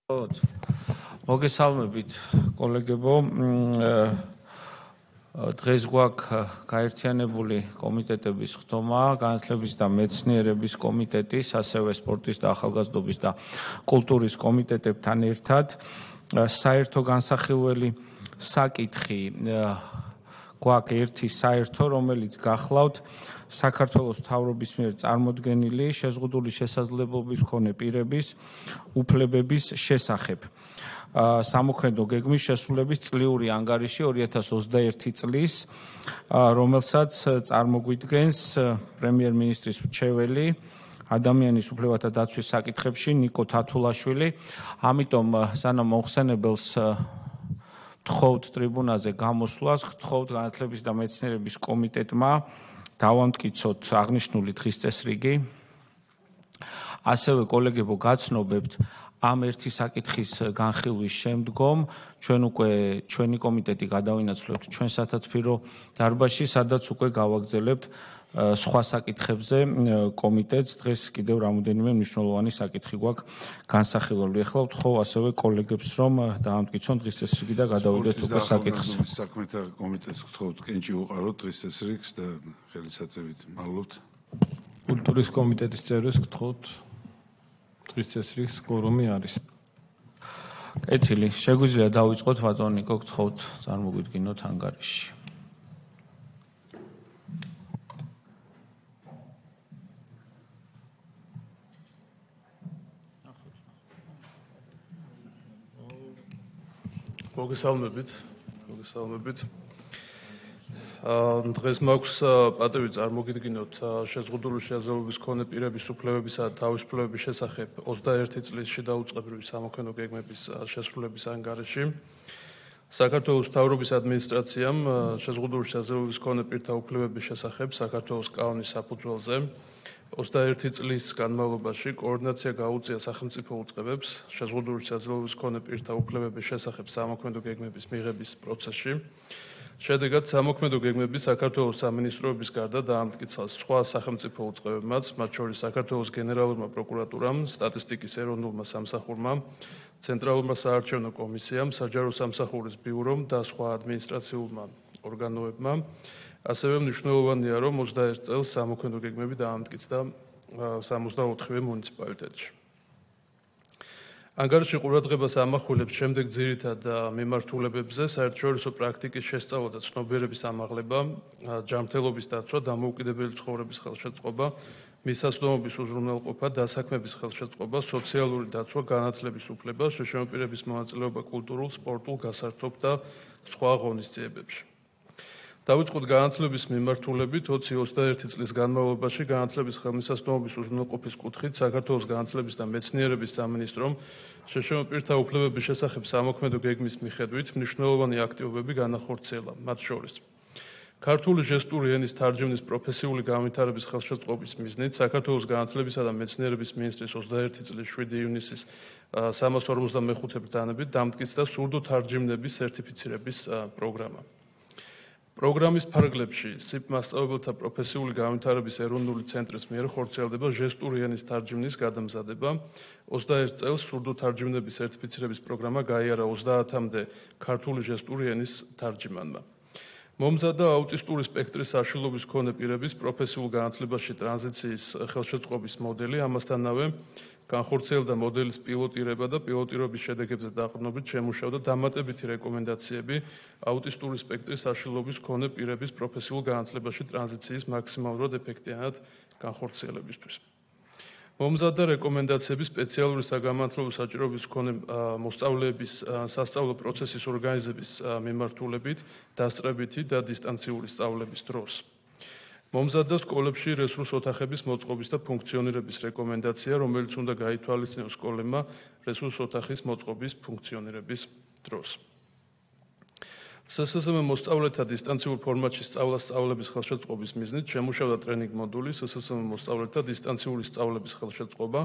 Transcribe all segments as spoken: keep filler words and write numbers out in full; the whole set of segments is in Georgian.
მოგესალმებით, კოლეგებო. დღეს გვაქვს გაერთიანებული კომიტეტების ხდომა, განათლების და მეცნიერების კომიტეტის, ასევე სპორტის და ახალგაზრდობის და კულტურის კომიტეტებთან ერთად. საერთო განსახილველი საკითხი გვაქვს ერთი საერთო, რომელიც გახლავთ საქართველოს მთავრობის მიერ წარმოდგენილი შეზღუდული შესაძლებლობის მქონე პირების უფლებების შესახებ. სამოქმედო გეგმის შესრულების წლიური ანგარიში ორი ათას ოცდაერთი წლის, რომელსაც წარმოგვიდგენს პრემიერ-მინისტრის მრჩეველი ადამიანის უფლებათა დაცვის საკითხებში ნიკო თათულაშვილი. ამიტომ სანამ მომხსენებელს გთხოვთ ტრიბუნაზე გამოსვლას, გთხოვთ განათლების და მეცნიერების კომიტეტმა დავამტკიცოთ აღნიშნული დღის წესრიგი. ასევე კოლეგებო, გაცნობებთ ამ ერთი საკითხის განხილვის შემდგომ ჩვენ უკვე ჩვენი კომიტეტი გადავინაცვლებთ ჩვენ სათათბირო დარბაზში, სადაც უკვე გავაგზავნებთ სხვა საკითხებზე კომიტეტს. დღეს კიდევ რამოდენიმე მნიშვნელოვანი საკითხი გვაქვს განსახილველი. ეხლა ვთხოვ ასევე კოლეგებს, რომ დაამტკიცონ დღის წესრიგი და გადავიდეთ უკვე საკითხს. საქმეთა კომიტეტს გთხოვთ კენჭი უყაროთ დღის წესრიგს და ხელისაწევით მალობთ. კულტურის კომიტეტის წევრებს გთხოვთ დღის წესრიგს კორუმი არის. კეთილი, შეგვიძლია დავიწყოთ ბატონო ნიკო, გთხოვთ წარმოგვიდგინოთ ანგარიში. მოგესალმებით, მოგესალმებით. დღეს მაქვს პატივი წარმოგიდგინოთ შეზღუდული შესაძლებლობის მქონე პირების უფლებებისა და თავისუფლებების შესახებ ოცდაერთი წლის შედაუწყებრივი სამოქმედო გეგმების შესრულების ანგარიში. საქართველოს მთავრობის ადმინისტრაციამ შეზღუდული შესაძლებლობის მქონე პირთა უფლებების შესახებ საქართველოს კანონის საფუძველზე ოცდაერთი წლის განმავლობაში კოორდინაცია გაუწია სახელმწიფო უწყებებს შეზღუდული შესაძლებლობის მქონე პირთა უფლებების შესახებ სამოქმედო გეგმების მიღების პროცესში. შედეგად სამოქმედო გეგმები საქართველოს სამინისტროების გარდა დაამტკიცა სხვა სახელმწიფო უწყებებმაც, მათ შორის საქართველოს გენერალურმა პროკურატურამ, სტატისტიკის ეროვნულმა სამსახურმა, ცენტრალურმა საარჩევნო კომისიამ, საჯარო სამსახურის ბიურომ და სხვა ადმინისტრაციულმა ორგანოებმა. ასევე მნიშვნელოვანია, რომ ოცდაერთ წელს სამოქმედო გეგმები დაამტკიცდა სამოცდაოთხივე მუნიციპალიტეტში. ანგარიში ყურადღებას ამახვილებს შემდეგ ძირითად მიმართულებებზე: საერთაშორისო პრაქტიკის შესწავლა და ცნობიერების ამაღლება, ჯანმრთელობის დაცვა, დამოუკიდებელი ცხოვრების ხელშეწყობა, მისასვლელობის უზრუნველყოფა, დასაქმების ხელშეწყობა, სოციალური დაცვა, განათლების უფლება, შეშინებული პირების მონაწილეობა კულტურულ, სპორტულ, გასართობ და სხვა ღონისძიებებში. დავიწყოთ განათლების მიმართულებით. ოცი ოცდაერთი წლის განმავლობაში განათლების ხელმისაწვდომობის უზრუნველყოფის კუთხით საქართველოს განათლების და მეცნიერების სამინისტრომ შეშინებული პირთა უფლებების შესახებ სამოქმედო გეგმის მიხედვით მნიშვნელოვანი აქტივობები განახორციელა. მათ შორის ქართული ჟესტური ენის თარჯიმნის პროფესიული განვითარების ხელშეწყობის მიზნით საქართველოს განათლებისა და მეცნიერების მინისტრის ოცდაერთი წლის შვიდი ივნისის სამას ორმოცდამეხუთე ბრძანებით დამტკიცდა სურდო თარჯიმნების სერტიფიცირების პროგრამა. პროგრამის ფარგლებში სიპ მასწავლებელთა პროფესიული განვითარების ეროვნული ცენტრის მიერ ხორციელდება ჟესტური ენის თარჯიმნის გადამზადება. ოცდაერთ წელს სურდო თარჯიმნების სერტიფიცირების პროგრამა გაიარა ოცდაათამდე ქართული ჟესტური ენის თარჯიმანმა. მომზადდა აუტისტური სპექტრის საშუალების მქონე პირების პროფესიულ განათლებაში ტრანზიციის ხელშეწყობის მოდელი, ამასთანავე განხორციელდა მოდელის პილოტირება და პილოტირების შედეგებზე დაყრდნობით შემუშავდა დამატებითი რეკომენდაციები აუტისტური სპექტრის საშუალების მქონე პირების პროფესიულ განათლებაში ტრანზიციის მაქსიმალურად ეფექტიანად განხორციელებისთვის. მომზადდა რეკომენდაციები სპეციალური საგანმანათლებლო საჭიროების მქონე მოსწავლეების სასწავლო პროცესის ორგანიზების მიმართულებით, დასწრებითი და დისტანციური სწავლების დროს. მომზადდა სკოლებში რესურს ოთახების მოწყობის და ფუნქციონირების რეკომენდაცია, რომელიც უნდა გაითვალისწინოს სკოლებმა რესურს ოთახის მოწყობის ფუნქციონირების დროს. სსსმ მოსწავლეთა დისტანციურ ფორმატში სწავლა სწავლების ხელშეწყობის მიზნით შემუშავდა ტრენინგ მოდული სსსმ მოსწავლეთა დისტანციური სწავლების ხელშეწყობა,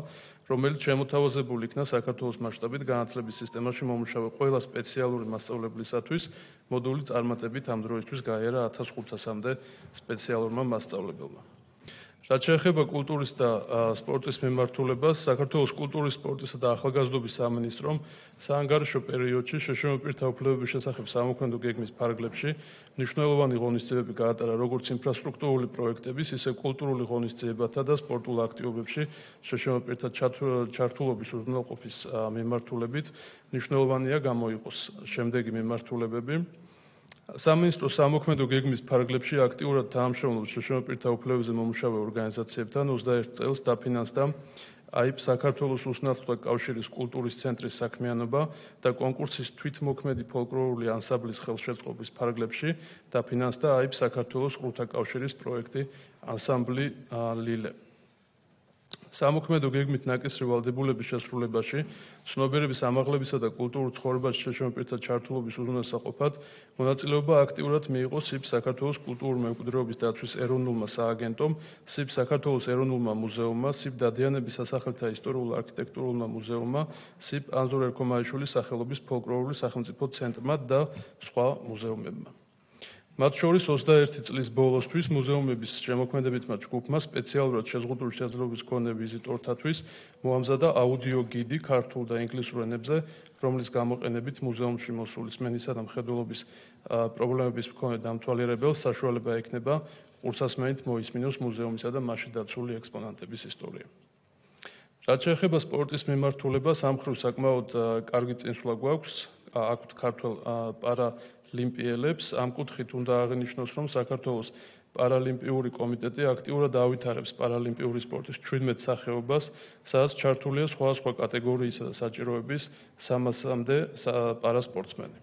რომელიც შემოთავაზებული იქნა საქართველოს მასშტაბით განათლების სისტემაში მომუშავე ყველა სპეციალური მასწავლებლისათვის. მოდული წარმატებით ამ დროისთვის გაიარა ათას ხუთასამდე სპეციალურმა მასწავლებელმა. რაც შეეხება კულტურის და სპორტის მიმართულებას, საქართველოს კულტურის, სპორტისა და ახალგაზრდობის სამინისტრომ საანგარიშო პერიოდში შეშმო პირთა უფლებების შესახებ სამოქმედო გეგმის ფარგლებში მნიშვნელოვანი ღონისძიებები გაატარა როგორც ინფრასტრუქტურული პროექტების, ისე კულტურული ღონისძიებათა და სპორტულ აქტივობებში შეშმო პირთა ჩართულობის უზრუნველყოფის მიმართულებით. მნიშვნელოვანია გამოიყოს შემდეგი მიმართულებები. სამინისტროს სამოქმედო გეგმის ფარგლებში აქტიურად თანამშრომლობს შეშმო პირთა უფლებებზე მომუშავე ორგანიზაციებთან. ოცდაერთ წელს დაფინანსდა აიპ საქართველოს უსნათლოთა კავშირის კულტურის ცენტრის საქმიანობა და კონკურსის თვითმოქმედი ფოლკლორული ანსამბლის ხელშეწყობის ფარგლებში დაფინანსდა აიპ საქართველოს ყრუთა კავშირის პროექტი ანსამბლი ლილე. სამოქმედო გეგმით ნაკისრი ვალდებულების შესრულებაში, ცნობიერების ამაღლებისა და კულტურულ ცხოვრებაში შეშმო პირთა ჩართულობის უზრუნველსაყოფად მონაწილეობა აქტიურად მიიღო სიბ საქართველოს კულტურული მემკვიდრეობის დაცვის ეროვნულმა სააგენტომ, სიბ საქართველოს ეროვნულმა მუზეუმმა, სიბ დადიანების სასახლეთა ისტორიულ-არქიტექტურულმა მუზეუმმა, სიბ ანზორ ერქომაიშვილის სახელობის ფოლკლორული სახელმწიფო ცენტრმა და სხვა მუზეუმებმა. მათ შორის ოცდაერთი წლის ბოლოსთვის მუზეუმების შემოქმედებითმა ჯგუფმა სპეციალურად შეზღუდული შესაძლებლობის მქონე ვიზიტორთათვის მოამზადა აუდიო გიდი ქართულ და ინგლისურ ენებზე, რომლის გამოყენებით მუზეუმში მოსული სმენისა და მხედველობის პრობლემების მქონე დამთვალიერებელს საშუალება ექნება ყურსასმენით მოისმინოს მუზეუმისა და მასში დაცული ექსპონატების ისტორია. რაც შეეხება სპორტის მიმართულებას, ამ მხრივ საკმაოდ კარგი წინსვლა გვაქვს აქვთ ქართველ პარა ოლიმპიელებს. ამ კუთხით უნდა აღინიშნოს, რომ საქართველოს პარალიმპიური კომიტეტი აქტიურად ავითარებს პარალიმპიური სპორტის ჩვიდმეტ სახეობას, სადაც ჩართულია სხვადასხვა კატეგორიისა და საჭიროების სამასამდე პარასპორტსმენი.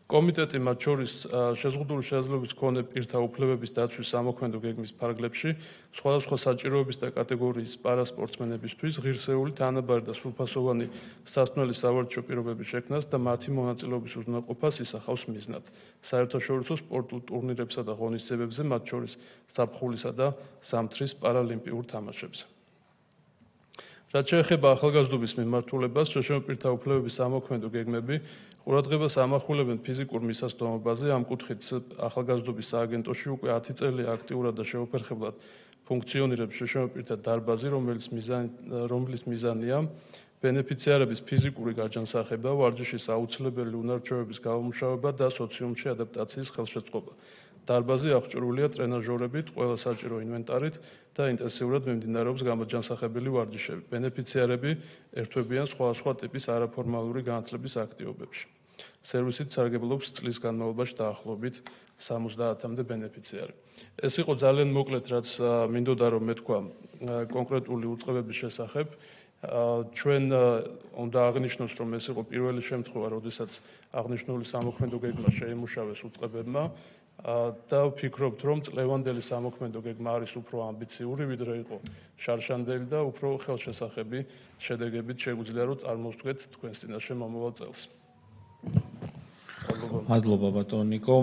კომიტეტი მათ შორის შეზღუდული შესაძლებლობის მქონე პირთა უფლებების დაცვის სამოქმედო გეგმის ფარგლებში სხვადასხვა საჭიროების და კატეგორიის პარასპორტსმენებისთვის ღირსეული, თანაბარი და სრულფასოვანი სასწავლელი სავარჯიშო პირობების შექმნას და მათი მონაწილეობის უზრუნველყოფას ისახავს მიზნად საერთაშორისო სპორტულ ტურნირებსა და ღონისძიებებზე, მათ შორის ზაფხულისა და ზამთრის პარალიმპიურ თამაშებზე. რაც შეეხება ახალგაზრდობის მიმართულებას, შეშმო პირთა უფლებების სამოქმედო გეგმები ყურადღებას ამახვილებენ ფიზიკურ მისასვლელობაზე. ამ კუთხით ახალგაზრდობის სააგენტოში უკვე ათი წელი აქტიურად და შეუფერხებლად ფუნქციონირებს შეშმო პირთა დარბაზი, რომელიც მიზანი რომლის მიზანია ბენეფიციარების ფიზიკური გაჯანსაღება, ვარჯიშის აუცილებელი უნარჩვევების გამომუშავება და სოციუმში ადაპტაციის ხელშეწყობა. დარბაზი აღჭურვილია ტრენაჟორებით, ყველა საჭირო ინვენტარით და ინტენსიურად მიმდინარეობს გამოჯანსაღებელი ვარჯიშები. ბენეფიციარები ერთვებიან სხვადასხვა ტიპის არაფორმალური განათლების აქტივობებში. სერვისით სარგებლობს წლის განმავლობაში დაახლოებით სამოცდაათამდე ბენეფიციარი. ეს იყო ძალიან მოკლედ, რაც მინდოდა რომ მეთქვა კონკრეტული უწყებების შესახებ. ჩვენ უნდა აღნიშნოს, რომ ეს იყო პირველი შემთხვევა, როდესაც აღნიშნული სამოქმედო გეგმა შეიმუშავეს უწყებებმა და ვფიქრობთ, რომ წლევანდელი სამოქმედო გეგმა არის უფრო ამბიციური, ვიდრე იყო შარშანდელი და უფრო ხელშესახები შედეგებით შეგვიძლია რომ წარმოვსდგეთ თქვენს წინაშე მომავალ წელს. მადლობა ბატონო ნიკო.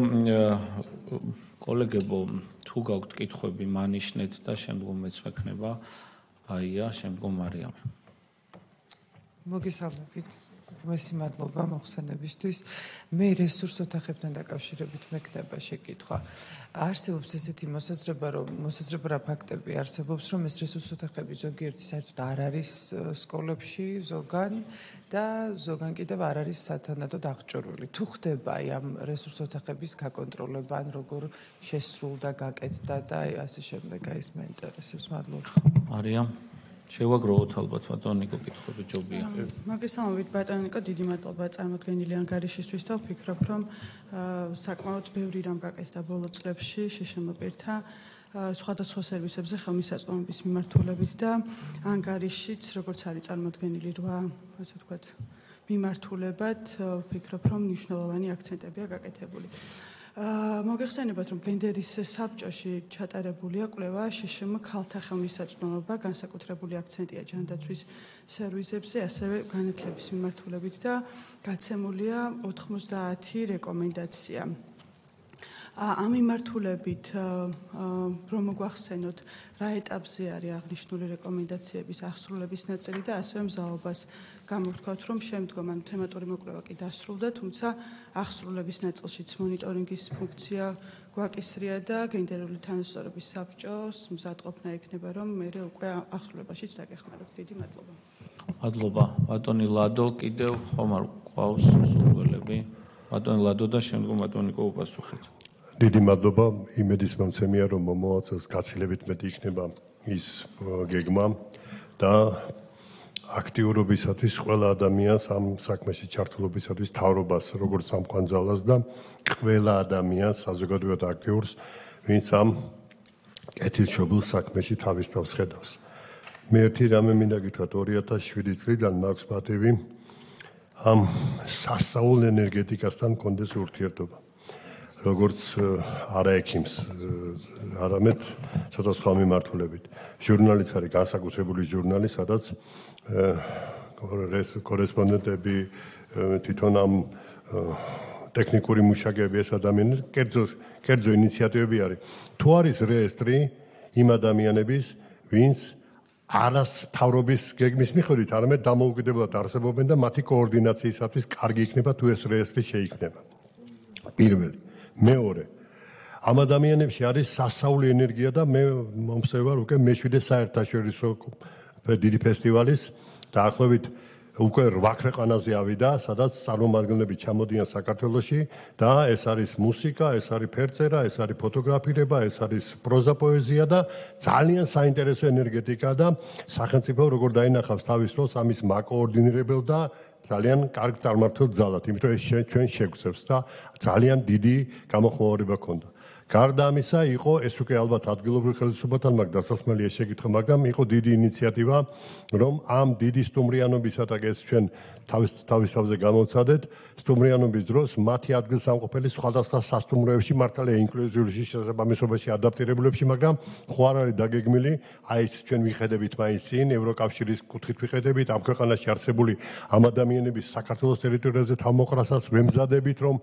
კოლეგებო, თუ გაქვთ კითხვები, მანიშნეთ და შემდგომ მეც მექნება აია, შემდგომ მარიამი. მოგესალმებით. მესი მადლობა მოხსენებისთვის. მე რესურს ოთახებთან დაკავშირებით მექნება შეკითხვა. არსებობს ესეთი მოსაზრება, რომ მოსაზრება რა ფაქტები არსებობს, რომ ეს რესურს ოთახები ზოგიერთი საერთოდ არ არის სკოლებში, ზოგან და ზოგან კიდევ არ არის სათანადოდ აღჭურვილი. თუ ხდება აი ამ რესურს ოთახების გაკონტროლება, ან როგორ შესრულდა, გაკეთდა და აი ასე შემდეგ, აი ეს მეინტერესებს. მადლობა. მარიამ შევაგროვოთ ალბათ ბატონო ნიკო კითხვები ჯობია. მოგესალმებით ბატონო ნიკო, დიდი მადლობა წარმოდგენილი ანგარიშისთვის და ვფიქრობ, რომ საკმაოდ ბევრი რამ გაკეთდა ბოლო წლებში შეშმო პირთა სხვადასხვა სერვისებზე ხელმისაწვდომობის მიმართულებით და ანგარიშიც, როგორც არის წარმოდგენილი რვა, ასე ვთქვათ, მიმართულებად, ვფიქრობ, რომ მნიშვნელოვანი აქცენტებია გაკეთებული. მოგეხსენებათ, რომ გენდერის საბჭოში ჩატარებულია კვლევა შეშმ ქალთა ხელმისაწვდომობა, განსაკუთრებული აქცენტია ჯანდაცვის სერვისებზე, ასევე განათლების მიმართულებით და გაცემულია ოთხმოცდაათი რეკომენდაცია. ამ მიმართულებით რომ მოგვახსენოთ, რა ეტაპზე არის აღნიშნული რეკომენდაციების აღსრულების ნაწილი და ასევე მზაობას გამოვთქვათ, რომ შემდგომ ან თემატური მოკვლევა კი დასრულდა, თუმცა აღსრულების ნაწილშიც მონიტორინგის ფუნქცია გვაკისრია და გენდერული თანასწორობის საბჭოს მზადყოფნა ექნება, რომ მე უკვე აღსრულებაშიც დაგეხმაროთ. დიდი მადლობა. მადლობა. ბატონი ლადო, კიდევ ხომ არ გვყავს სურვილები? ბატონი ლადო და შემდგომ ბატონი ნიკო უპასუხეთ. დიდი მადლობა. იმედის მომცემია, რომ მომავალ წელს გაცილებით მეტი იქნება ის გეგმა და აქტიურობისათვის ყველა ადამიანს ამ საქმეში ჩართულობისათვის თავრობას როგორც სამყანძალას და ყველა ადამიანს საზოგადოებრივად აქტიურს, ვინც ამ კეთილშობილ საქმეში თავის თავს ხედავს. მე ერთი რამე მინდა გითხრათ, ორი ათას შვიდი წლიდან მაქვს პატივი ამ სასწაულ ენერგეტიკასთან მქონდეს ურთიერთობა. როგორც არა ექიმს, არამედ ცოტა სხვა მიმართულებით. ჟურნალიც არის განსაკუთრებული ჟურნალი, სადაც კორესპონდენტები თვითონ ამ ტექნიკური მუშაკები ეს ადამიანები კერძო კერძო ინიციატივები არის. თუ არის რეესტრი იმ ადამიანების, ვინც არას თავრობის გეგმის მიხედვით, არამედ დამოუკიდებლად არსებობენ და მათი კოორდინაციისათვის კარგი იქნება თუ ეს რეესტრი შეიქმნება. პირველი, მეორე, ამ ადამიანებში არის სასწაული ენერგია და მე მომსწრე ვარ უკვე მეშვიდე საერთაშორისო დიდი ფესტივალის დაახლოებით უკვე რვა ქვეყანაზე ავიდა, სადაც წარმომადგენლები ჩამოდიან საქართველოში და ეს არის მუსიკა, ეს არის ფერწერა, ეს არის ფოტოგრაფირება, ეს არის პროზა პოეზია და ძალიან საინტერესო ენერგეტიკა და სახელმწიფო როგორ დაინახავს თავის როლს ამის მაკოორდინირებელ და ძალიან კარგ წარმართულ ძალად, იმიტომ ეს ჩვენ შეგვწევს და ძალიან დიდი გამოხმაურება ქონდა. გარდა ამისა, იყო ეს უკვე ალბათ ადგილობრივ ხელისუფლებათან მაგ დასასმელია შეკითხვა, მაგრამ იყო დიდი ინიციატივა, რომ ამ დიდი სტუმრიანობისათვის ეს ჩვენ თავის თავის თავზე გამოვცადეთ, სტუმრიანობის დროს მათი ადგილსამყოფელი სხვადასხვა სასტუმროებში მართალია ინკლუზიური შესაბამისობაში ადაპტირებულებში, მაგრამ ხო არ არის დაგეგმილი, აი ეს ჩვენ ვიხედებით მაინც წინ ევროკავშირის კუთხით ვიხედებით, ამ ქვეყანაში არსებული ამ ადამიანების საქართველოს ტერიტორიაზე თავმოყრასაც ვემზადებით, რომ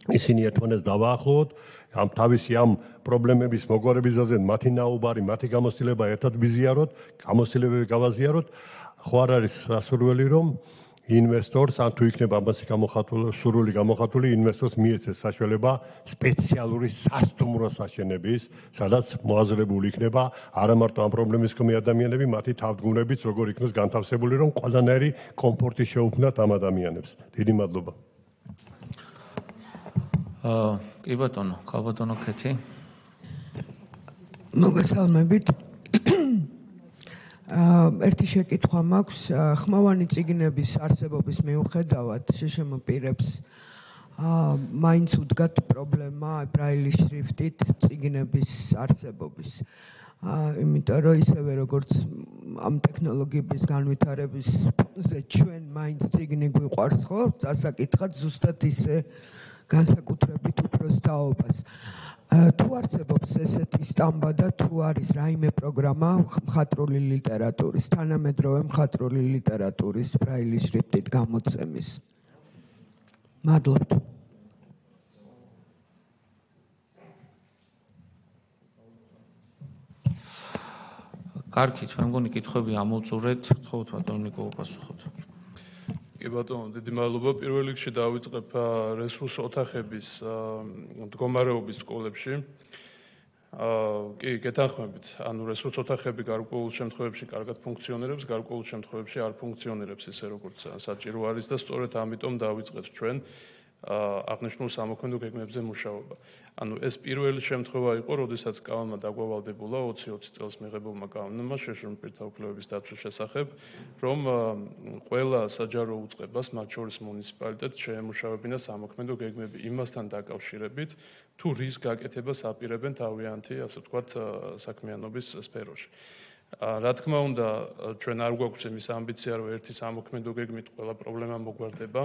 ისინი ერთმანეთს დავაახლოვოთ, ამ თავისი ამ პრობლემების მოგვარებისაზე მათი ნაუბარი, მათი გამოცდილება ერთად ვიზიაროთ, გამოცდილებები გავაზიაროთ, ხო არ არის სასურველი, რომ ინვესტორს, ან თუ იქნება ამასი გამოხატული, სურვილი გამოხატული, ინვესტორს მიეცეს საშუალება სპეციალური სასტუმროს აშენების, სადაც მოაზრებული იქნება არა მარტო ამ პრობლემის მქონე ადამიანები, მათი თავმჯდომარეებიც როგორ იქნოს განთავსებული, რომ ყველანაირი კომფორტი შეუქმნათ ამ ადამიანებს. დიდი მადლობა. კი ბატონო, ქალბატონო ქეთი. მოგესალმებით. ერთი შეკითხვა მაქვს, ხმოვანი წიგნების არსებობის მიუხედავად შეშმ პირებს მაინც უდგათ პრობლემა ბრაილის შრიფტით წიგნების არსებობის. იმიტომ რომ ისევე როგორც ამ ტექნოლოგიების განვითარების ფონზე ჩვენ მაინც წიგნი გვიყვარს ხო, დასაკითხად ზუსტად ისე განსაკუთრებით უფროს თაობას. თუ არსებობს ესეთი სტამბა და თუ არის რაიმე პროგრამა მხატვრული ლიტერატურის, თანამედროვე მხატვრული ლიტერატურის ბრაილის შრიფტით გამოცემის. მადლობთ. კარგით, მე მგონი კითხვები ამოვწურეთ, თხოვთ ბატონო ნიკო უპასუხოთ. კი ბატონო, დიდი მადლობა. პირველ რიგში დავიწყებ რესურს ოთახების მდგომარეობის სკოლებში. კი, გეთანხმებით. ანუ რესურს ოთახები გარკვეულ შემთხვევებში კარგად ფუნქციონირებს, გარკვეულ შემთხვევებში არ ფუნქციონირებს ისე როგორც საჭირო არის და სწორედ ამიტომ დავიწყეთ ჩვენ აღნიშნულ სამოქმედო გეგმებზე მუშაობა. ანუ ეს პირველი შემთხვევა იყო, როდესაც კანონმა დაგვავალდებულა ოცი ოცი წელს მიღებულმა კანონმა შეშრომ პირთა უფლებების დაცვის შესახებ, რომ ყველა საჯარო უწყებას, მათ შორის მუნიციპალიტეტს შეემუშავებინა სამოქმედო გეგმები იმასთან დაკავშირებით, თუ რის გაკეთებას აპირებენ თავიანთი, ასე ვთქვათ, საქმიანობის სფეროში. რა თქმა უნდა, ჩვენ არ გვაქვს იმის ამბიცია, რომ ერთი სამოქმედო გეგმით ყველა პრობლემა მოგვარდება.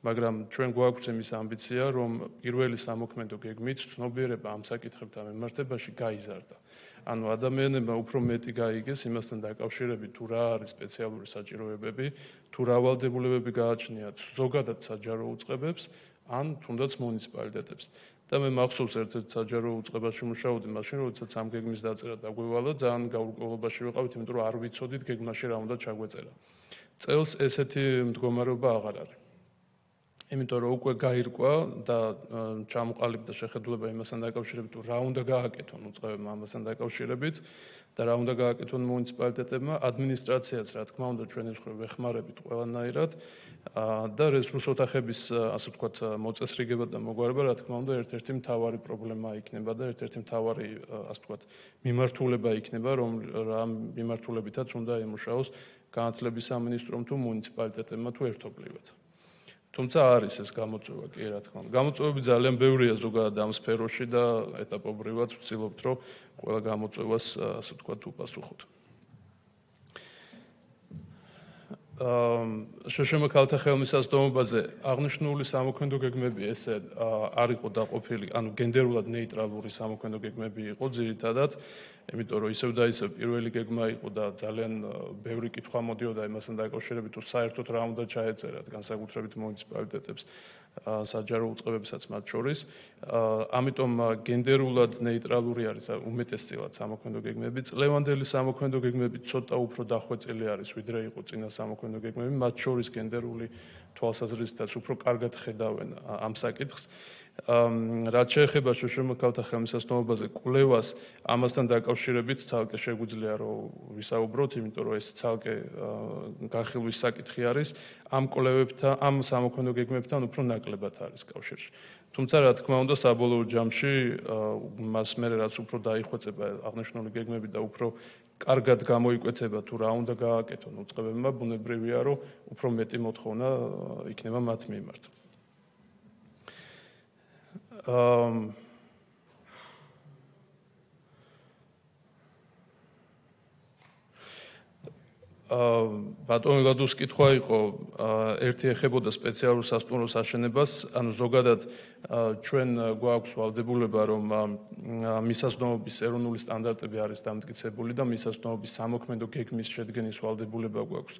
მაგრამ ჩვენ გვაქვს იმის ამბიცია, რომ პირველი სამოქმედო გეგმით ცნობიერება ამ საკითხებთან მიმართებაში გაიზარდა. ანუ ადამიანებმა უფრო მეტი გაიგეს იმასთან დაკავშირებით, თუ რა არის სპეციალური საჭიროებები, თუ რა ვალდებულებები გააჩნიათ ზოგადად საჯარო უწყებებს, ან თუნდაც მუნიციპალიტეტებს. და მე მახსოვს ერთ-ერთ საჯარო უწყებაში მუშაობდი მაშინ, როდესაც ამ გეგმის დაწერა დაგვევალა, ძალიან გაურკვევლობაში ვიყავით, იმიტომ რომ არ ვიცოდით გეგმაში რა უნდა ჩაგვეწერა. წელს ესეთი მდგომარეობა აღარ არის. იმიტომ რომ უკვე გაირკვა და ჩამოყალიბდა შეხედულება იმასთან დაკავშირებით, რა უნდა გააკეთონ უწყებებმა ამასთან დაკავშირებით და რა უნდა გააკეთონ მუნიციპალიტეტებმა, ადმინისტრაციაც რა თქმა უნდა ჩვენი მხრივ ვეხმარებით ყველანაირად და რესურს ოთახების ასე ვთქვათ მოწესრიგება და მოგვარება რა თქმა უნდა ერთ-ერთი მთავარი პრობლემა იქნება და ერთ-ერთი მთავარი ასე ვთქვათ მიმართულება იქნება, რომ რა მიმართულებითაც უნდა ემუშაოს განათლების სამინისტრომ თუ მუნიციპალიტეტებმა თუ ერთობლივად. თუმცა არის ეს გამოწვევა კი რა თქმა უნდა. გამოწვევები ძალიან ბევრია ზოგადად ამ სფეროში და ეტაპობრივად ვცდილობთ რომ ყველა გამოწვევას ასე ვთქვათ უპასუხოთ. შშმ ქალთა ხელმისაწვდომობაზე აღნიშნული სამოქმედო გეგმები ესე არ იყო დაყოფილი, ანუ გენდერულად ნეიტრალური სამოქმედო გეგმები იყო ძირითადად, იმიტომ რომ ისევ და ისევ პირველი გეგმა იყო და ძალიან ბევრი კითხვა მოდიოდა იმასთან დაკავშირებით, თუ საერთოდ რა უნდა ჩაეწერათ განსაკუთრებით მუნიციპალიტეტებს საჯარო უწყებებსაც მათ შორის. ამიტომ გენდერულად ნეიტრალური არის უმეტესწილად სამოქმედო გეგმები. წლევანდელი სამოქმედო გეგმები ცოტა უფრო დახვეწილი არის, ვიდრე იყო წინა სამოქმედო გეგმები, მათ შორის გენდერული თვალსაზრისითაც უფრო კარგად ხედავენ ამ საკითხს. რაც შეეხება შშმ ქალთა ხელმისაწვდომობაზე კვლევას, ამასთან დაკავშირებით ცალკე შეგვიძლია რომ ვისაუბროთ, იმიტომ რომ ეს ცალკე განხილვის საკითხი არის. ამ კვლევებთან, ამ სამოქმედო გეგმებთან უფრო ნაკლებად არის კავშირში. თუმცა რა თქმა უნდა, საბოლოო ჯამში მას მერე რაც უფრო დაიხვეწება აღნიშნული გეგმები და უფრო კარგად გამოიკვეთება თუ რა უნდა გააკეთონ უწყებებმა, ბუნებრივია რომ უფრო მეტი მოთხოვნა იქნება მათ მიმართ. Um, ბატონო ლადოს კითხვა იყო, ერთი ეხებოდა სპეციალურ სასტუმროს აშენებას, ანუ ზოგადად ჩვენ გვაქვს ვალდებულება, რომ მისასწრომობის ეროვნული სტანდარტები არის დამტკიცებული და მისასწრომობის სამოქმედო გეგმის შედგენის ვალდებულება გვაქვს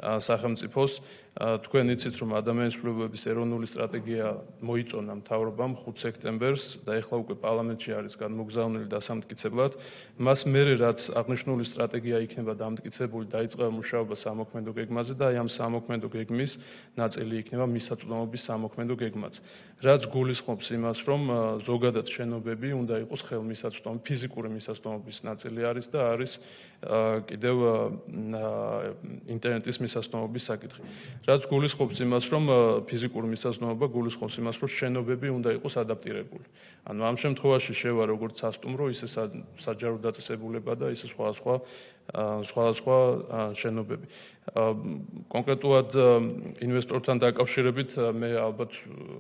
სახელმწიფოს. თქვენ იცით, რომ ადამიანის უფლებების ეროვნული სტრატეგია მოიწონა მთავრობამ ხუთ სექტემბერს და ეხლა უკვე პარლამენტში არის განმოგზავნილი დასამტკიცებლად. მას მერე რაც აღნიშნული სტრატეგია იქნება დამტკიცებული, დაიწყება მუშაობა სამოქმედო გეგმაზე და აი ამ სამოქმედო გეგმის ნაწილი იქნება მისაწვდომობის სამოქმედო გეგმაც. რაც გულისხმობს იმას, რომ ზოგადად შენობები უნდა იყოს ხელმისაწვდომი, ფიზიკური მისაწვდომობის ნაწილი არის და არის კიდევ ინტერნეტის მისაწვდომობის საკითხი. რაც გულისხმობს იმას, რომ ფიზიკური მისაწვდომობა გულისხმობს იმას, რომ შენობები უნდა იყოს ადაპტირებული. ანუ ამ შემთხვევაში შევა როგორც სასტუმრო, ისე საჯარო დაწესებულება და ისე სხვადასხვა სხვადასხვა შენობები. კონკრეტულად ინვესტორთან დაკავშირებით მე ალბათ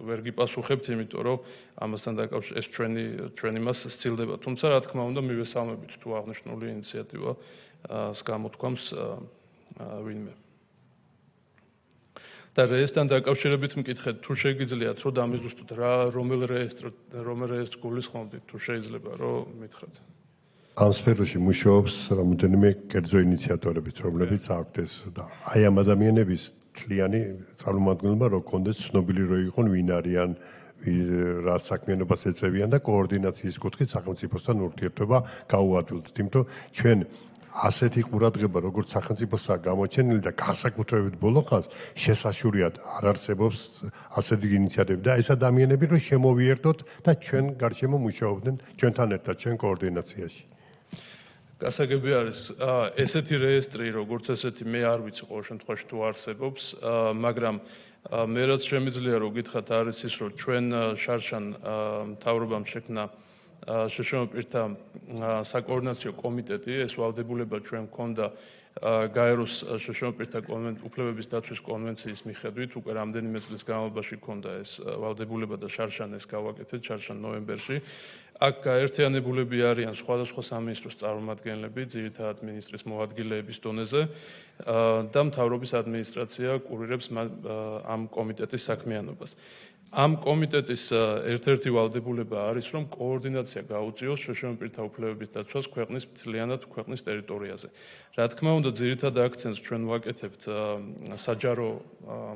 ვერ გიპასუხებთ, იმიტომ რომ ამასთან დაკავშირებით ეს ჩვენი ჩვენი მას სცილდება. თუმცა რა თქმა უნდა მივესალმებით თუ აღნიშნული ინიციატივას გამოთქვამს ვინმე. და რეესტრთან დაკავშირებით მკითხეთ, თუ შეგიძლიათ რომ დამიზუსტოთ რა რომელ რეესტრ რომელ რეესტრს გულისხმობთ, თუ შეიძლება რომ მითხრათ. ამ სფეროში მუშაობს რამოდენიმე კერძო ინიციატორებიც, რომლებიც აქვთ ეს და აი ამ ადამიანების თლიანი წარმომადგენლობა რო კონდეს ცნობილი რო იყვნენ ვინ არიან, რა საქმიანობას ეწევიან და კოორდინაციის კუთხით სახელმწიფოსთან ურთიერთობა გაუადვილდით, იმიტომ ჩვენ ასეთი ყურადღება როგორც სახელმწიფოსაა გამოჩენილი და განსაკუთრებით ბოლო ხანს შესაშურიათ არ არსებობს ასეთი ინიციატივები და ეს ადამიანები რო შემოვიერთოთ და ჩვენ გარშემო მუშაობდნენ ჩვენთან ერთად ჩვენ კოორდინაციაში. გასაგები არის ესეთი რეესტრი, როგორც ესეთი მე არ ვიცი ყოველ შემთხვევაში თუ არსებობს, მაგრამ მე რაც შემიძლია რომ გითხრათ არის ის, რომ ჩვენ შარშან მთავრობამ შექმნა შშმ პირთა საკოორდინაციო კომიტეტი, ეს ვალდებულება ჩვენ გქონდა გაეროს შშმ პირთა უფლებების დაცვის კონვენციის მიხედვით, უკვე რამდენიმე წლის განმავლობაში გქონდა ეს ვალდებულება და შარშან ეს გავაკეთეთ, შარშან ნოემბერში. აქ გაერთიანებულები არიან სხვადასხვა სამინისტროს წარმომადგენლები, ძირითადად მინისტრის მოადგილეების დონეზე და მთავრობის ადმინისტრაცია კურირებს ამ კომიტეტის საქმიანობას. ამ კომიტეტის ერთ-ერთი ვალდებულება არის, რომ კოორდინაცია გაუწიოს შშმ პირთა უფლებების დაცვას ქვეყნის მთლიანად ქვეყნის ტერიტორიაზე. Რა თქმა უნდა, ძირითად აქცენტს ჩვენ ვაკეთებთ საჯარო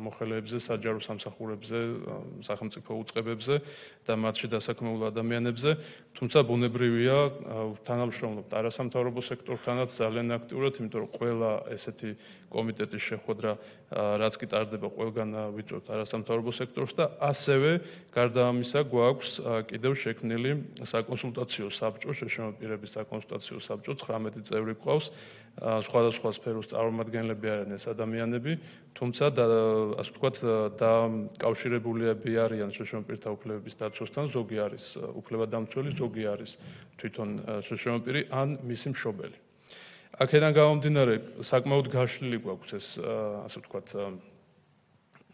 მოხელეებზე, საჯარო სამსახურებზე, სახელმწიფო უწყებებზე და მათში დასაქმებულ ადამიანებზე, თუმცა ბუნებრივია თანამშრომლობთ არასამთავრობო სექტორთანაც ძალიან აქტიურად, იმიტომ რომ ყველა ესეთი კომიტეტის შეხვედრა რაც კი ტარდება, ყველგან ვიწვევთ არასამთავრობო სექტორს და ასევე გარდა ამისა გვაქვს კიდევ შექმნილი საკონსულტაციო საბჭო, შშმ პირების საკონსულტაციო საბჭო, ცხრამეტი წევრი გვყავს, სხვადასხვა სფეროს წარმომადგენლები არიან ეს ადამიანები, თუმცა ასე ვთქვათ, დაკავშირებულები არიან შშმ პირთა უფლებების დაცვასთან, ზოგი არის უფლებადამცველი, ზოგი არის თვითონ შშმ პირი ან მისი მშობელი. აქედან გამომდინარე, საკმაოდ გაშლილი გვაქვს ეს ასე ვთქვათ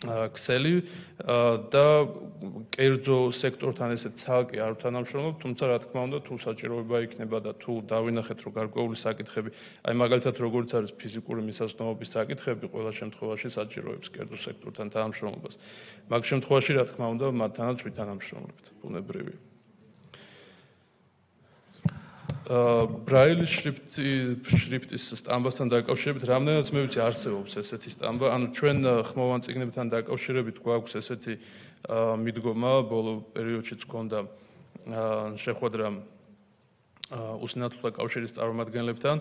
ქსელი და კერძო სექტორთან ესე ცალკე არ თანამშრომლობ, თუმცა რა თქმა უნდა, თუ საჭიროება იქნება და თუ დავინახეთ, რომ გარკვეული საკითხები, აი მაგალითად როგორც არის ფიზიკური მისაზრდომობის საკითხები, ყველა შემთხვევაში საჭიროებს კერძო სექტორთან თანამშრომლობას. მაგ შემთხვევაში რა თქმა უნდა, მათთანაც ვითანამშრომლებთ, ბუნებრივია. ბრაილის შრიფტის სტამბასთან დაკავშირებით რამდენადაც მე ვიცი არსებობს ესეთი სტამბა, ანუ ჩვენ ხმოვან წიგნებთან დაკავშირებით გვაქვს ესეთი მიდგომა, ბოლო პერიოდშიც ჰქონდა შეხვედრა უსინათლოთა კავშირის წარმომადგენლებთან,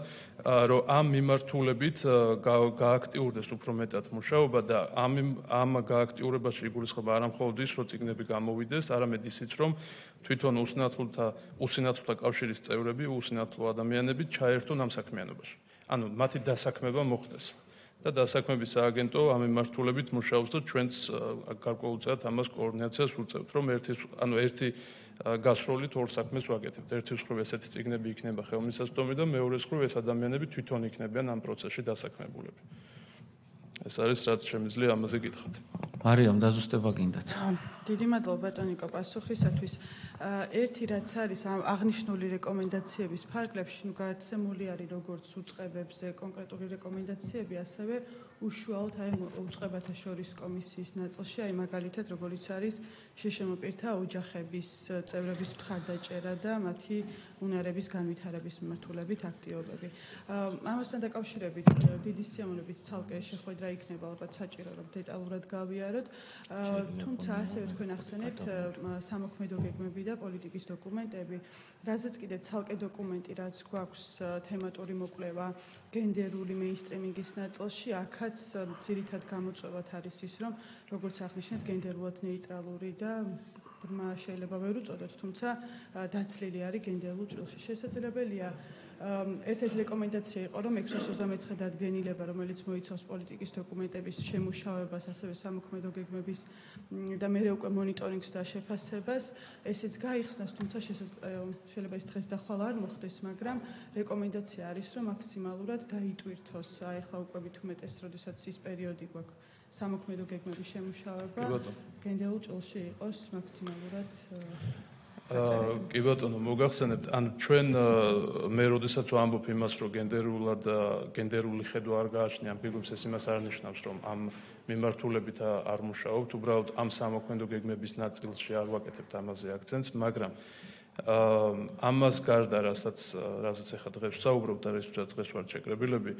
რომ ამ მიმართულებით გააქტიურდეს უფრო მეტად მუშაობა და ამ ამ გააქტიურებაში იგულისხმება არა მხოლოდ ის, რომ წიგნები გამოვიდეს, არამედ ისიც, რომ თვითონ უსინათლოთა უსინათლოთა კავშირის წევრები, უსინათლო ადამიანები ჩაერთონ ამ საქმიანობაში. ანუ მათი დასაქმება მოხდეს. და დასაქმების სააგენტო ამ მიმართულებით მუშაობს და ჩვენც გარკვეულწილად ამას კოორდინაციას უწევთ, რომ ერთი ანუ ერთი გასროლით ორ საქმეს ვაკეთებთ. ერთი მხრივ ესეთი წიგნები იქნება ხელმისაწვდომი და მეორე მხრივ ეს ადამიანები თვითონ იქნებიან ამ პროცესში დასაქმებულები. ეს არის რაც შემიძლია ამაზე გითხრათ. მარიამ, დაზუსტება გინდათ. დიდი მადლობა ბატონიკო პასუხისათვის. ერთი რაც არის აღნიშნული რეკომენდაციების ფარგლებში, ნუ გადაცემული არის როგორც უწყებებზე კონკრეტული რეკომენდაციები, ასევე უშუალოდ აი უწყებათა შორის კომისიის ნაწილში, აი მაგალითად როგორც არის შშმ პირთა ოჯახების წევრების მხარდაჭერა და მათი უნარების განვითარების მიმართულებით აქტივობები. ამასთან დაკავშირებით დიდი სიამოვნებით ცალკე შეხვედრა იქნება, ალბათ საჭირო რომ დეტალურად გავიაროთ. თუმცა ასევე თქვენ ახსენებთ სამოქმედო გეგმები და პოლიტიკის დოკუმენტები, რაზეც კიდე ცალკე დოკუმენტი, რაც გვაქვს თემატური მოკვლევა გენდერული მეინსტრიმინგის ნაწილში, აქაც ძირითად გამოწვევად არის ის, რომ როგორც აღნიშნეთ, გენდერულად ნეიტრალური და ბრმა შეიძლება ვერ უწოდოთ, თუმცა დაცლილი არის გენდერულ ჭრილში. შესაძლებელია ერთ-ერთი რეკომენდაცია იყო, რომ ექვსას ოცდამეცხრე დადგენილება, რომელიც მოიცავს პოლიტიკის დოკუმენტების შემუშავებას, ასევე სამოქმედო გეგმების და მერე უკვე მონიტორინგს და შეფასებას, ესეც გაიხსნას, თუმცა შეიძლება ის დღეს და ხვალ არ მოხდეს, მაგრამ რეკომენდაცია არის, რომ მაქსიმალურად დაიტვირთოს, აი ახლა უკვე მით უმეტეს, როდესაც ის პერიოდი გვაქვს სამოქმედო გეგმების შემუშავება, გენდერულ ჭრილში იყოს მაქსიმალურად კი ბატონო, მოგახსენებთ, ანუ ჩვენ მე როდესაც ვამბობ იმას, რომ გენდერულად გენდერული ხედვა არ გააჩნია ფიგურებს, ეს იმას არ ნიშნავს, რომ ამ მიმართულებით არ მუშაობთ, უბრალოდ ამ სამოქმედო გეგმების ნაწილში არ ვაკეთებთ ამაზე აქცენტს, მაგრამ ამას გარდა, რასაც რასაც ახლა დღეს ვსაუბრობთ და რისთვისაც დღეს ვართ შეკრებილები,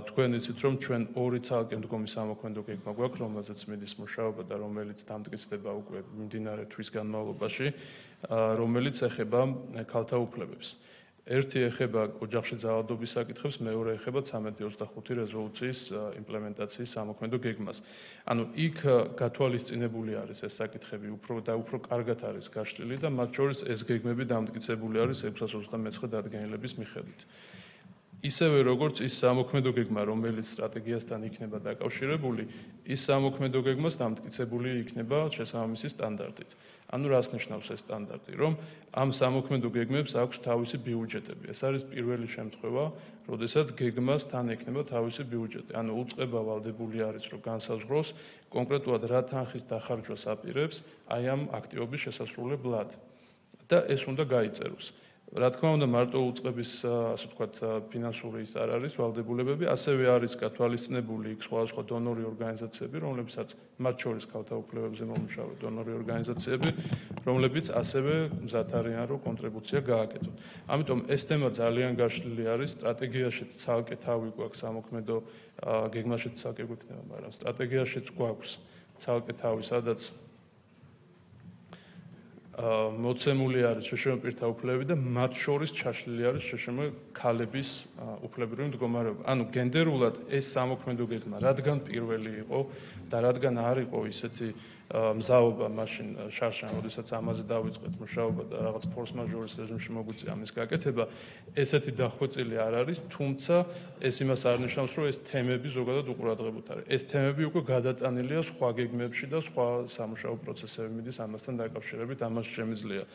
თქვენ იცით, რომ ჩვენ ორი ცალკე მდგომი სამოქმედო გეგმა გვაქვს, რომელზეც მიდის მუშაობა და რომელიც დამტკიცდება უკვე მიმდინარე თვის განმავლობაში, რომელიც ეხება ქალთა უფლებებს. ერთი ეხება ოჯახში ძალადობის საკითხებს, მეორე ეხება ცამეტი ოცდახუთი რეზოლუციის იმპლემენტაციის სამოქმედო გეგმას. ანუ იქ გათვალისწინებული არის ეს საკითხები უფრო და უფრო კარგად არის გაშლილი და მათ შორის ეს გეგმები დამტკიცებული არის ექვსას ოცდამეცხრე დადგენილების მიხედვით. ისევე როგორც ის სამოქმედო გეგმა, რომელიც სტრატეგიასთან იქნება დაკავშირებული, ის სამოქმედო გეგმას დამტკიცებული იქნება შესაბამისი სტანდარტით. ანუ რას ნიშნავს ეს სტანდარტი, რომ ამ სამოქმედო გეგმებს აქვს თავისი ბიუჯეტები. ეს არის პირველი შემთხვევა, როდესაც გეგმას თან ექნება თავისი ბიუჯეტი. ანუ უწყება ვალდებული არის, რომ განსაზღვროს კონკრეტულად რა თანხის დახარჯვას აპირებს აი ამ აქტივობის შესასრულებლად. და ეს უნდა გაიწეროს. რა თქმა უნდა, მარტო უწყების, ასე ვთქვათ, ფინანსური ის არ არის ვალდებულებები, ასევე არის გათვალისწინებული იქ სხვადასხვა დონორი ორგანიზაციები, რომლებსაც მათ შორის ქალთა უფლებებზე მომუშავე დონორი ორგანიზაციები, რომლებიც ასევე მზად არიან, რომ კონტრიბუცია გააკეთონ. ამიტომ ეს თემა ძალიან გაშლილი არის, სტრატეგიაშიც ცალკე თავი გვაქვს სამოქმედო გეგმაშიც ცალკე გვექნება, მაგრამ სტრატეგიაშიც გვაქვს ცალკე თავი, სადაც მოცემული არის შშმ პირთა უფლებები და მათ შორის ჩაშლილი არის შშმ ქალების უფლებრივი მდგომარეობა. ანუ გენდერულად ეს სამოქმედო გეგმა რადგან პირველი იყო და რადგან არ იყო ისეთი მზაობა მაშინ შარშან, როდესაც ამაზე დავიწყეთ მუშაობა და რაღაც ფორს მაჟორის რეჟიმში მოგვიწია ამის გაკეთება, ესეთი დახვეწილი არ არის, თუმცა ეს იმას არ ნიშნავს, რომ ეს თემები ზოგადად უყურადღებოთ არის. ეს თემები უკვე გადატანილია სხვა გეგმებში და სხვა სამუშაო პროცესებში მიდის ამასთან დაკავშირებით, ამას შემიძლია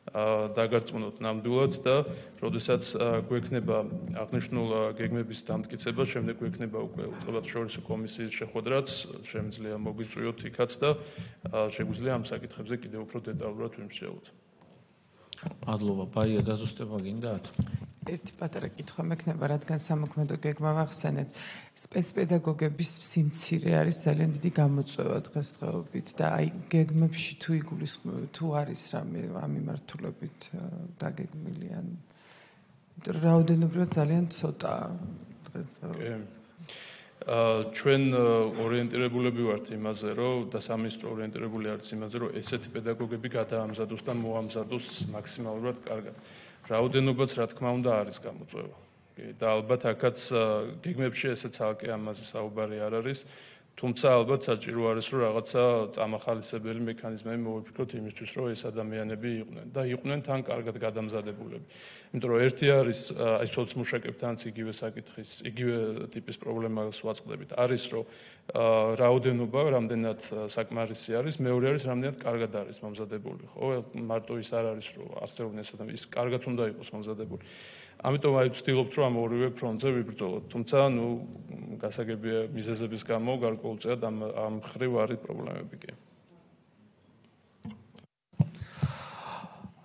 დაგარწმუნოთ ნამდვილად და როდესაც გვექნება აღნიშნულ გეგმების დამტკიცება, შემდეგ გვექნება უკვე უწყებათშორისო კომისიის შეხვედრაც, შემიძლია მოგვიწვიოთ იქაც და შეგვიძლია ამ საკითხებზე კიდევ უფრო დეტალურად ვიმსჯელოთ. მადლობა, ბაია დაზუსტება გინდათ? ერთი პატარა კითხვა მექნება, რადგან სამოქმედო გეგმა ვახსენეთ, სპეცპედაგოგების სიმცირე არის ძალიან დიდი გამოწვევა დღესდღეობით და აი გეგმებში თუ იგულისხმება, თუ არის რამე ამ მიმართულებით დაგეგმილი ან რაოდენობრივად ძალიან ცოტაა დღესდღეობით. ჩვენ ორიენტირებულები ვართ იმაზე, რომ და სამინისტრო ორიენტირებული არის იმაზე, რომ ესეთი პედაგოგები გადაამზადოს და მოამზადოს მაქსიმალურად კარგად. რაოდენობაც რა თქმა უნდა არის გამოწვევა. და ალბათ აქაც გეგმებში ესე ცალკე ამაზე საუბარი არ არის, თუმცა ალბათ საჭირო არის, რომ რაღაცა წამახალისებელი მექანიზმები მოვიფიქროთ იმისთვის, რომ ეს ადამიანები იყვნენ და იყვნენ თან კარგად გადამზადებულები. იმიტომ რომ ერთი არის აი სოციმუშაკებთანაც იგივე საკითხის, იგივე ტიპის პრობლემას ვაწყდებით. არის რომ რაოდენობა რამდენად საკმარისი არის, მეორე არის რამდენად კარგად არის მომზადებული, ხო? მარტო ის არ არის რომ არსებობენ ეს ადამიანები, ის კარგად უნდა იყოს მომზადებული. ამიტომ აი ვცდილობთ რომ ამ ორივე ფრონტზე ვიბრძოლოთ. თუმცა ნუ გასაგებია მიზეზების გამო გარკვეულწილად ამ ამ ხრივ არის პრობლემები კი.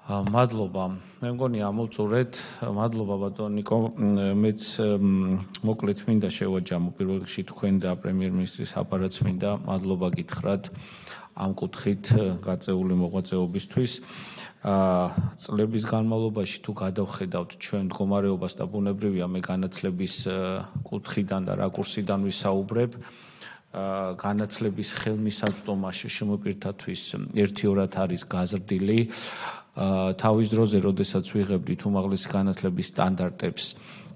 მადლობა. მე მგონი ამოვწურეთ. მადლობა ბატონ ნიკო. მეც მოკლედ მინდა შევაჯამო პირველ რიგში თქვენ და პრემიერ-მინისტრის აპარატს მინდა მადლობა გითხრათ ამ კუთხით გაწეული მოღვაწეობისთვის. წლების განმავლობაში თუ გადავხედავთ ჩვენ მდგომარეობას და ბუნებრივია მე განათლების კუთხიდან და რაკურსიდან ვისაუბრებ, განათლების ხელმისაწვდომა შშმ პირთათვის ერთიორად არის გაზრდილი. თავის დროზე, როდესაც ვიღებდით უმაღლესი განათლების სტანდარტებს,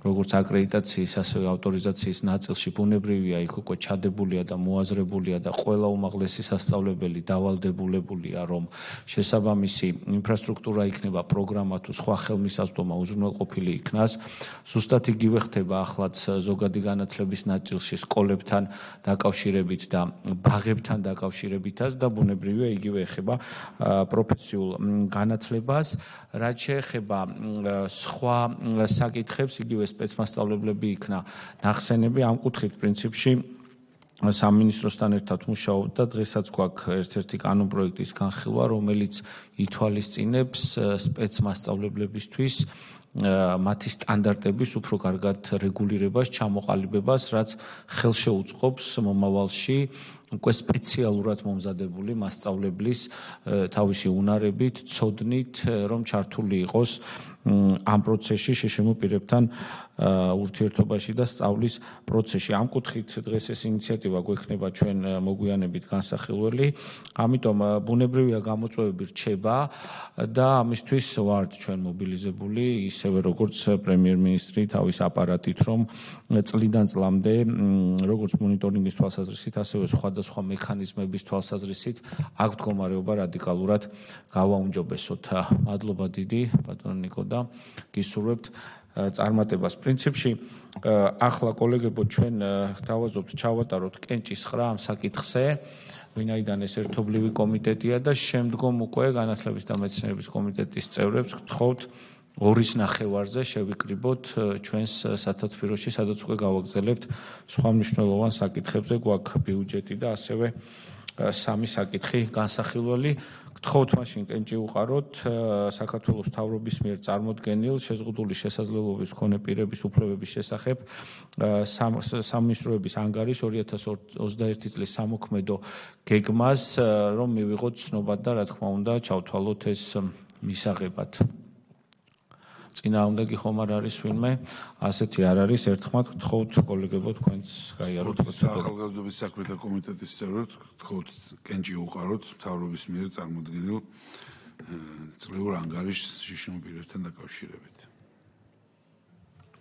როგორც აკრედიტაციის, ასევე ავტორიზაციის ნაწილში, ბუნებრივია იქ უკვე ჩადებულია და მოაზრებულია და ყველა უმაღლესი სასწავლებელი დავალდებულებულია, რომ შესაბამისი ინფრასტრუქტურა იქნება, პროგრამა თუ სხვა ხელმისაწვდომა უზრუნველყოფილი იქნას. ზუსტად იგივე ხდება ახლაც ზოგადი განათლების ნაწილში სკოლებთან დაკავშირებით და ბაღებთან დაკავშირებითაც და ბუნებრივია იგივე ეხება პროფესიულ განათლებას. რაც შეეხება სხვა საკითხებს, იგივე სპეცმასწავლებლები იქნა ნახსენები ამ კუთხით პრინციპში სამინისტროსთან ერთად მუშაობთ და დღესაც გვაქვს ერთ-ერთი კანონპროექტის განხილვა, რომელიც ითვალისწინებს სპეცმასწავლებლებისთვის მათი სტანდარტების უფრო კარგად რეგულირებას, ჩამოყალიბებას, რაც ხელშეუწყობს მომავალში უკვე სპეციალურად მომზადებული მასწავლებლის თავისი უნარებით, ცოდნით, რომ ჩართული იყოს ამ პროცესში შშმ პირებთან ურთიერთობაში და სწავლის პროცესში. ამ კუთხით დღეს ეს ინიციატივა გვექნება ჩვენ მოგვიანებით განსახილველი. ამიტომ ბუნებრივია გამოწვევები რჩება და ამისთვის ვართ ჩვენ მობილიზებული, ისევე როგორც პრემიერ-მინისტრი თავის აპარატით, რომ წლიდან წლამდე როგორც მონიტორინგის თვალსაზრისით, ასევე სხვადასხვა მექანიზმების თვალსაზრისით აქ მდგომარეობა რადიკალურად გავაუმჯობესოთ. მადლობა დიდი ბატონ ნიკო და გისურვებთ წარმატებას. პრინციპში ახლა კოლეგებო ჩვენ დავაზობთ ჩავატაროთ კენჭის ხრა ამ საკითხზე, ვინაიდან ეს ერთობლივი კომიტეტია და შემდგომ უკვე განათლების და მეცნიერების კომიტეტის წევრებს გთხოვთ ორის ნახევარზე შევიკრიბოთ ჩვენს სათათბიროში, სადაც უკვე გავაგზავნებთ სხვა მნიშვნელოვან საკითხებზე, გვაქვს ბიუჯეტი და ასევე სამი საკითხი განსახილველი. გთხოვთ მაშინ კენჭი უყაროთ საქართველოს მთავრობის მიერ წარმოდგენილ შეზღუდული შესაძლებლობის მქონე პირების უფლებების შესახებ სამინისტროების ანგარის ორი ათას ოცდაერთი წლის სამოქმედო გეგმას, რომ მივიღოთ ცნობა და რა თქმა უნდა ჩავთვალოთ ეს მისაღებად. წინააღმდეგი ხომ არ არის ვინმე, ასეთი არ არის, ერთხმად გთხოვთ კოლეგებო თქვენც გაიაროთ პროცედურა. ახალგაზრდობის საქმეთა კომიტეტის წევრად გთხოვთ კენჭი უყაროთ მთავრობის მიერ წარმოდგენილ წლეულ ანგარიშს შიშინო პირებთან დაკავშირებით.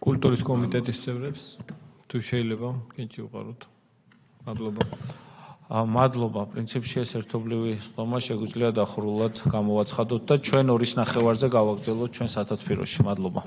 კულტურის კომიტეტის წევრებს თუ შეიძლება კენჭი უყაროთ. მადლობა. მადლობა. პრინციპში ეს ერთობლივი ხდომა შეგვიძლია დახურულად გამოვაცხადოთ და ჩვენ ორის ნახევარზე გავაგრძელოთ ჩვენ სათათბიროში. მადლობა.